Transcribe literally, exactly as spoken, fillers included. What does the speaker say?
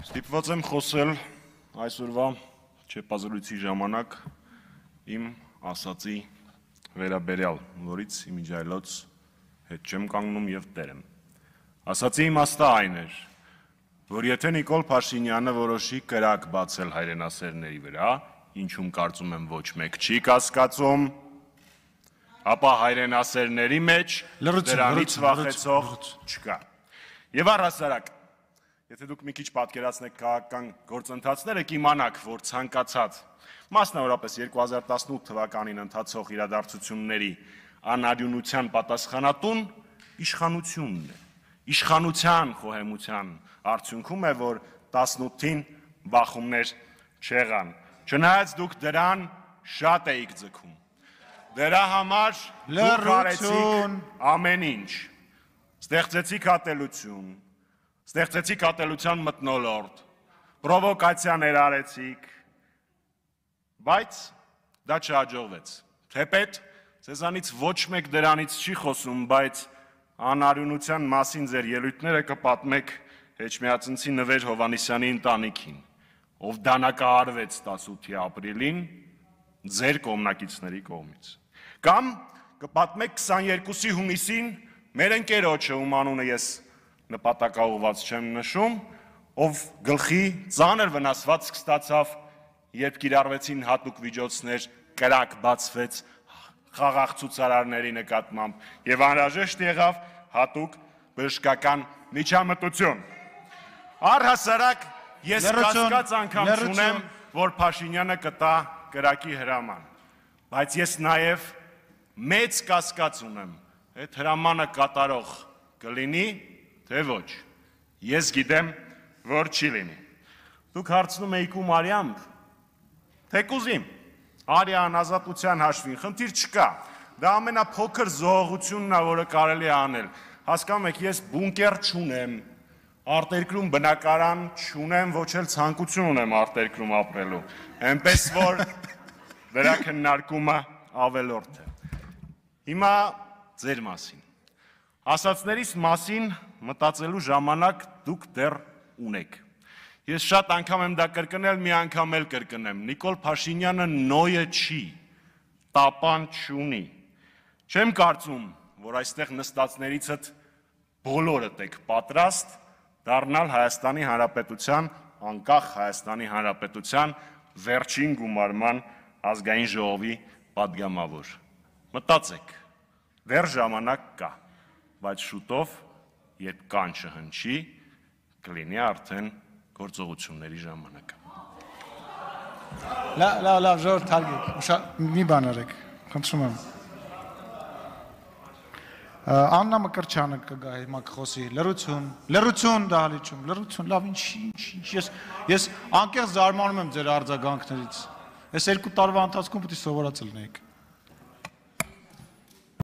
Ստիպված եմ խոսել այսօրվա չեպազրույցի ժամանակ իմ ասացի վերաբերյալ, որից իմիջայլոց հետ չեմ կանգնում և տեր եմ։ Ասացի իմաստը այն էր, որ եթե Նիկոլ Փաշինյանը որոշի կրակ բացել հայրենասերների վրա, ինչում կարծում եմ ոչ մեկ չի կասկածում, ապա հայրենասերների մեջ դրանից վախեցող չկա։ Եվ առհասարակ, եթե դուք մի քիչ պատկերացնեք քաղաքական գործընթացները, կիմանաք, որ ցանկացած, մասնավորապես երկու հազար տասնութ թվականին ընթացող իրադարձությունների անարյունության պատասխանատուն իշխանությունն է։ Իշխանության խոհեմության արդյունքում է, որ տասնութին բախումներ չեղան։ Չնայած դուք դրան շատ էիք ձգում։ Դրա համար դուք արեցիք ամեն ինչ։ Ստեղծեցիք ատելություն, ստեղծեցիք ատելության մթնոլորտ, պրովոկացիաներ արեցիք, բայց դա չհաջողվեց։ Թեպետ ձեզանից ոչ մեկ դրանից չի խոսում, բայց անարյունության մասին ձեր ելույթները կպատմեք Էջմիածնցի Նվեր Հովհաննիսյանի ընտանիքին, ով դանակահարվեց տասնութի ապրիլին ձեր կողմնակիցների կողմից։ Կամ կպատմեք քսաներկուսի հունիսին մեր ընկերոջը, ում անունը ես նպատակաուղղված չեմ նշում, ով գլխի ծանր վնասվածք ստացավ, երբ կիրառվեցին հատուկ միջոցներ, կրակ բացվեց խաղաղ ցուցարարների նկատմամբ և անհրաժեշտ եղավ հատուկ բժշկական միջամտություն։ Առհասարակ ես կասկած անգամ չունեմ, որ Փաշինյանը կտա կրակի հրաման, բայց ես նաև մեծ կասկած ունեմ, այդ հրամանը կատարող կլինի, թե ոչ։ Ես գիտեմ, որ չի լինի։ Դուք հարցնում եք ում արյամբ, թեկուզ իմ, արյան ազատության հաշվին, խնդիր չկա։ Դա ամենափոքր զոհողությունն է, որը կարելի է անել։ Հասկանում եք, ես բունկեր չունեմ, արտերկրում բնակարան չունեմ, ոչ էլ ցանկություն ունեմ արտերկրում ապրելու։ Էնպես որ դրա քննարկումը ավելորդ է։ Հիմա ձեր մասին։ Ասածներիս մասին մտածելու ժամանակ դուք դեռ ունեք։ Ես շատ անգամ եմ դա կրկնել, մի անգամ էլ կրկնեմ։ Նիկոլ Փաշինյանը նոյը չի, տապան չունի։ Չեմ կարծում, որ այստեղ նստածներիցդ բոլորդ եք պատրաստ դառնալ Հայաստանի Հանրապետության, անկախ Հայաստանի Հանրապետության վերջին գումարման ազգային ժողովի պատգամավոր։ Մտածեք, դեռ ժամանակ կա, բայց շուտով, երբ կանչը հնչի, կլինի արդեն գործողությունների ժամանակը։ Լավ, լավ, լավ, ժողովուրդ հարգեք, մի բան արեք, խնդրում եմ։ Աննա Մկրտչյանը կգա հիմա կխոսի, լռություն, լռություն դահլիճում, լռություն, լավ, ինչ, ինչ, ես, ես անկեղծ զարմանում եմ ձեր արձագանքներից։ Ես երկու տարվա ընթացքում պետք է սովորած լինեիք։